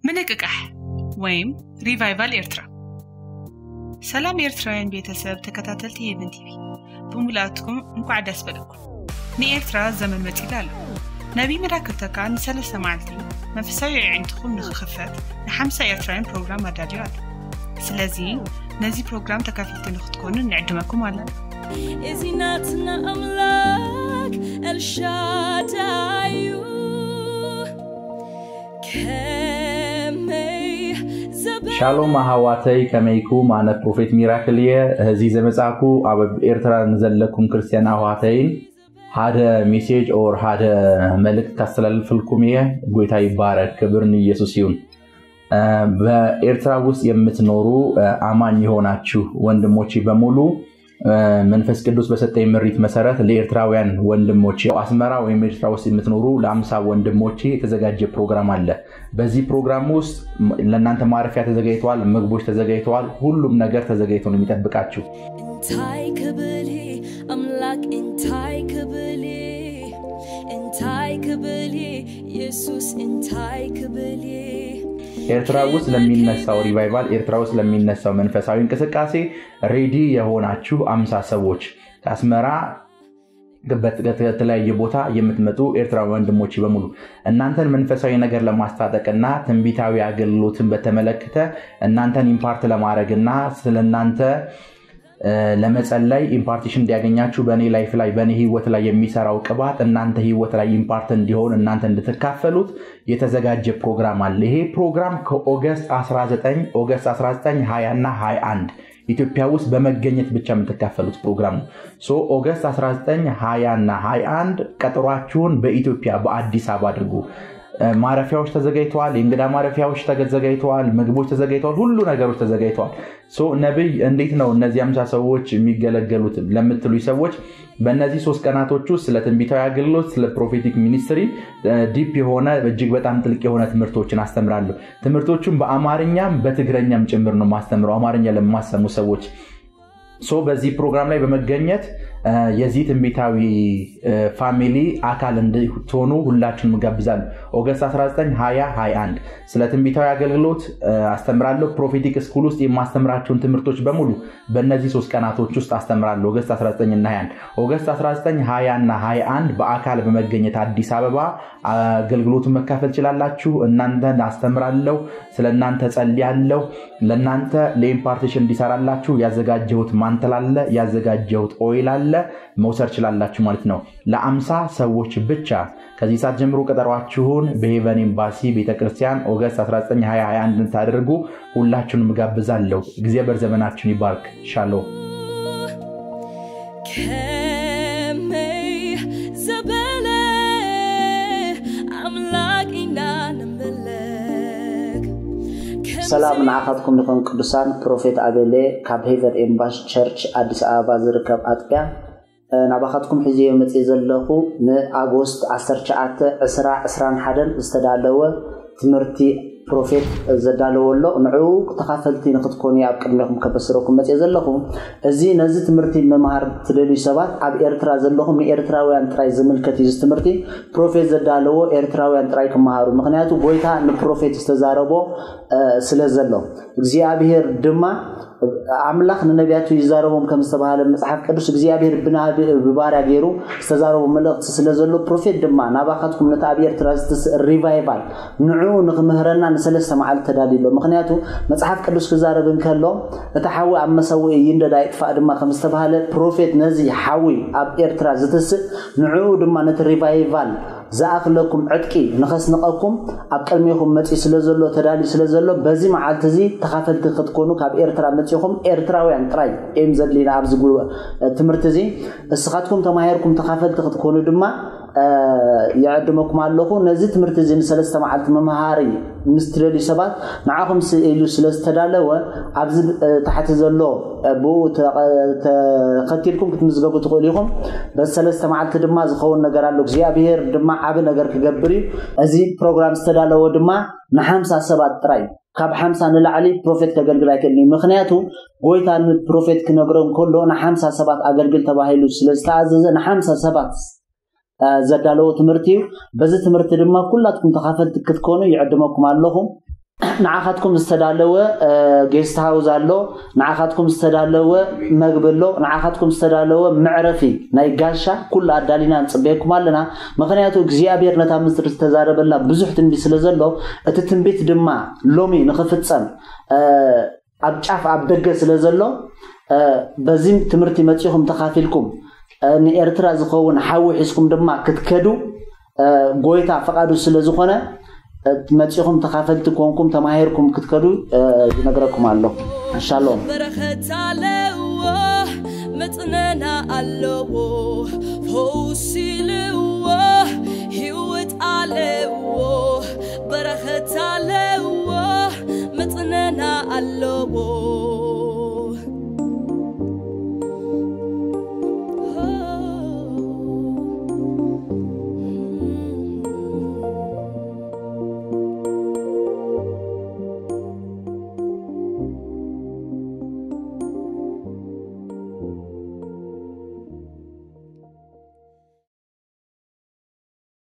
ምንቅቃሕ ወይም ሪቫይቫል ኤርትራ። ሰላም ኤርትራውያን ቤተሰብ ተከታተልቲ ሄቨን ቲቪ፣ ብሙላትኩም እንኳዕ ደስ በለኩም። ንኤርትራ ዘመን መጺላ ኣሎ። ነቢይ መዳክርተካ ንሰለስተ መዓልቲ መንፈሳዊ ኣዒንትኹም ንክኽፈት ንሓምሳ ኤርትራውያን ፕሮግራም ኣዳልዩ ኣሎ። ስለዚ ነዚ ፕሮግራም ተካፈልቲ ንክትኮኑ ንዕድመኩም ኣለና። እዚ ናትና ኣምላክ ኤልሻዳይ እዩ። ከመይ ዘበ- ሻሎም ኣሕዋተይ፣ ከመይኩም? ኣነ ፕሮፌት ሚራክል እየ። እዚ ዘመጻኩ ኣብ ኤርትራ ንዘለኩም ክርስትያን ኣሕዋተይን ሓደ ሜሴጅ ኦር ሓደ መልእክት ካስተላልፍልኩም እየ። ጎይታ ይባረክ፣ ክብር ንኢየሱስ ይሁን። እ፣ በኤርትራ ውስጥ የምትኖሩ፣ እ፣ አማኝ የሆናችሁ ወንድሞቼ በሙሉ፣ እ፣ መንፈስ ቅዱስ በሰጠኝ ምሪት መሰረት ለኤርትራውያን ወንድሞቼ፣ አስመራ ወይም ኤርትራ ውስጥ የምትኖሩ ለአምሳ ወንድሞቼ የተዘጋጀ ፕሮግራም አለ። በዚህ ፕሮግራም ውስጥ ም-፣ ለእናንተ ማረፊያ ተዘጋጅተዋል፣ ምግቦች ተዘጋጅተዋል፣ ሁሉም ነገር ተዘጋጅቶ ነው የሚጠብቃችሁ። እንታይ ክብል ኣምላክ እንታይ ክብል እንታይ ክብል ኢየሱስ እንታይ ክብል ኤርትራ ውስጥ ለሚነሳው ሪቫይቫል፣ ኤርትራ ውስጥ ለሚነሳው መንፈሳዊ እንቅስቃሴ ሬዲ የሆናችሁ አምሳ ሰዎች ከአስመራ በት-፣ ከተለያየ ቦታ የምትመጡ ኤርትራዊ ወንድሞች በሙሉ እናንተን መንፈሳዊ ነገር ለማስታጠቅና ትንቢታዊ አገልግሎትን በተመለከተ እናንተን ኢምፓርት ለማድረግና ስለእናንተ፣ እ፣ ለመጸለይ ኢምፓርቴሽን እንዲያገኛችሁ በእኔ ላይፍ ላይ በእኔ ህይወት ላይ የሚሰራው ቅባት እናንተ ህይወት ላይ ኢምፓርት እንዲሆን እናንተ እንድትካፈሉት የተዘጋጀ ፕሮግራም አለ። ይሄ ፕሮግራም ከኦገስት አስራ ዘጠኝ፣ ኦገስት አስራ ዘጠኝ፣ ሃያ እና ሃያ አንድ ኢትዮጵያ ውስጥ በመገኘት ብቻ የምትካፈሉት ፕሮግራም ነው። ሶ ኦገስት አስራ ዘጠኝ፣ ሃያ እና ሃያ አንድ ቀጠሯችሁን በኢትዮጵያ በአዲስ አበባ አድርጉ። እ፣ ማረፊያዎች ተዘጋጅተዋል። የእንግዳ ማረፊያዎች ተዘጋጅተዋል። ምግቦች ተዘጋጅተዋል። ሁሉ ነገሮች ተዘጋጅተዋል። ሶ ነብይ፣ እንዴት ነው እነዚህ አምሳ ሰዎች የሚገለገሉት ለምትሉኝ ሰዎች በእነዚህ ሶስት ቀናቶች ውስጥ ስለ ትንቢታዊ አገልግሎት፣ ስለ ፕሮፌቲክ ሚኒስትሪ፣ እ፣ ዲፕ የሆነ እጅግ በጣም ጥልቅ የሆነ ትምህርቶችን አስተምራለሁ። ትምህርቶቹን በአማርኛም በትግረኛም ጭምር ነው ማስተምረው፣ አማርኛ ለማሰሙ ሰዎች። ሶ በዚህ ፕሮግራም ላይ በመገኘት፣ እ፣ የዚህ ትንቢታዊ፣ እ፣ ፋሚሊ አካል እንድትሆኑ ሁላችሁንም እጋብዛለሁ። ኦገስት አስራ ዘጠኝ፣ ሃያ፣ ሃያ አንድ ስለ ትንቢታዊ አገልግሎት፣ እ፣ አስተምራለሁ። ፕሮፌቲክ ስኩል ውስጥ የማስተምራቸውን ትምህርቶች በሙሉ በእነዚህ ሶስት ቀናቶች ውስጥ አስተምራለሁ። ኦገስት አስራ ዘጠኝ እና ሃያ አንድ፣ ኦገስት አስራ ዘጠኝ፣ ሃያ እና ሃያ አንድ በአካል በመገኘት አዲስ አበባ አገልግሎቱን መካፈል ችላላችሁ። እናንተን አስተምራለሁ፣ ስለ እናንተ ጸልያለሁ። ለእናንተ ለኢምፓርቴሽን እንዲሰራላችሁ ያዘጋጀሁት ማንትል አለ፣ ያዘጋጀሁት ኦይል አለ፣ መውሰድ ችላላችሁ ማለት ነው። ለአምሳ ሰዎች ብቻ። ከዚህ ሰዓት ጀምሮ ቀጠሯችሁን በሄቨን ኤምባሲ ቤተክርስቲያን ኦገስት አስራ ዘጠኝ፣ ሃያ፣ ሃያ አንድ እንድታደርጉ ሁላችሁንም እጋብዛለሁ። እግዚአብሔር ዘመናችሁን ይባርክ። ሻሎም። ከመይ ዘበለ ኣምላክ ኢና ንምለክ ሰላም ንዓኻትኩም ይኹን ቅዱሳን። ፕሮፌት ኣቤሌ ካብ ሄቨን ኤምባሲ ቸርች ኣዲስ ኣበባ ዝርከብ ኣጥቢያ፣ እ፣ ናባኻትኩም ሒዘዮ መፅእ ዘለኹ ንኣጎስት ዓሰርተ ትሽዓተ፣ ዕስራ፣ ዕስራን ሓደን ዝተዳለወ ትምህርቲ ፕሮፌት ዘዳለዎ ኣሎ። ንዕኡ ተኻፈልቲ ንክትኮኑ ኣብ ቅድሜኹም ከበስረኩም መፅእ ዘለኹ። እዚ ነዚ ትምህርቲ ምምሃር ትደልዩ ሰባት ኣብ ኤርትራ ዘለኹም ንኤርትራውያን ጥራይ ዝምልከት እዩ። እዚ ትምህርቲ ፕሮፌት ዘዳለዎ ኤርትራውያን ጥራይ ክመሃሩ። ምክንያቱ ጎይታ ንፕሮፌት ዝተዛረቦ፣ እ፣ ስለ ዘሎ እግዚኣብሔር ድማ ኣምላኽ ንነቢያቱ ይዛረቦም ከም ዝተባሃለ መጽሓፍ ቅዱስ እግዚኣብሔር ብናብ-፣ ብባርያ ገይሩ ዝተዛረቦ መልእኽቲ ስለ ዘሎ ፕሮፌት ድማ ናባኻትኩም ነቲ ኣብ ኤርትራ ዝትስእ ሪቫይቫል ንዕኡ ንክምህረና ንሰለስተ መዓልቲ ተዳልዩ ኣሎ። ምክንያቱ መጽሓፍ ቅዱስ ክዛረብ እንከሎ እቲ ሓዊ ኣብ መሰውኢ ይንደድ ኣይጥፋእ ድማ ከም ዝተባሃለ ፕሮፌት ነዚ ሓዊ ኣብ ኤርትራ ዝትስእ ንዕኡ ድማ ነቲ ሪቫይቫል ዝኣኽለኩም ዕጥቂ ንኸስንቐኩም ኣብ ቅድሜኹም መጺኡ ስለ ዘሎ ተዳልዩ ስለ ዘሎ በዚ መዓልቲ እዚ ተኻፈልቲ ክትኮኑ ካብ ኤርትራ መጺኹም ኤርትራውያን ጥራይ እዮም ዘድልዩና ኣብዚ ጉ-፣ ትምህርቲ እዚ እስኻትኩም ተማሂርኩም ተኻፈልቲ ክትኮኑ ድማ እ፣ ይዕድመኩም ኣለኹ። ነዚ ትምህርቲ እዚ ንሰለስተ መዓልቲ መምሃሪ ምስ ትደልዩ ሰባት ንዓኹም ስኢሉ ስለ ዝተዳለወ ኣብዚ፣ እ፣ ታሕቲ ዘሎ፣ እ፣ ብኡ ተቐ-፣ ተኸቲልኩም ክትምዝገቡ ትኽእሉ ኢኹም። በዚ ሰለስተ መዓልቲ ድማ ዝኸውን ነገር ኣሎ። እግዚኣብሔር ድማ ዓቢ ነገር ክገብር እዩ። እዚ ፕሮግራም ዝተዳለወ ድማ ንሓምሳ ሰባት ጥራይ፣ ካብ ሓምሳ ንላዕሊ ፕሮፌት ከገልግል ኣይክእልን እዩ። ምኽንያቱ ጎይታ ንፕሮፌት ክነግሮ እንከሎ ንሓምሳ ሰባት ኣገልግል ተባሂሉ ስለ ዝተኣዘዘ ንሓምሳ ሰባት፣ እ፣ ዘዳለዎ ትምህርቲ እዩ። በዚ ትምህርቲ ድማ ኩላትኩም ተኻፈልቲ ክትኮኑ ይዕድመኩም ኣለኹ። ንዓኻትኩም ዝተዳለወ ጌስት ሃውስ ኣሎ፣ ንዓኻትኩም ዝተዳለወ መግቢ ኣሎ፣ ንዓኻትኩም ዝተዳለወ መዕረፊ ናይ ጋሻ ኩሉ ኣዳሊና ንፅበየኩም ኣለና። ምክንያቱ እግዚኣብሔር ነታ ምድሪ ዝተዛረበላ ብዙሕ ትንቢት ስለ ዘሎ፣ እቲ ትንቢት ድማ ሎሚ ንክፍፀም ኣብ ጫፍ ኣብ ደገ ስለ ዘሎ፣ በዚ ትምህርቲ መፂኹም ተካፊልኩም ንኤርትራ ዝኸውን ሓዊ ሒዝኩም ድማ ክትከዱ ጎይታ ፈቃዱ ስለ ዝኾነ፣ መፂኹም ተካፈልቲ ኮንኩም ተማሂርኩም ክትከዱ ይነግረኩም ኣሎ። ሻሎም። በረኸት ኣለዎ፣ መጽነና ኣለዎ፣ ፈውሲ ልዎ፣ ህይወት ኣለዎ። በረኸት ኣለዎ፣ መጽነና ኣለዎ፣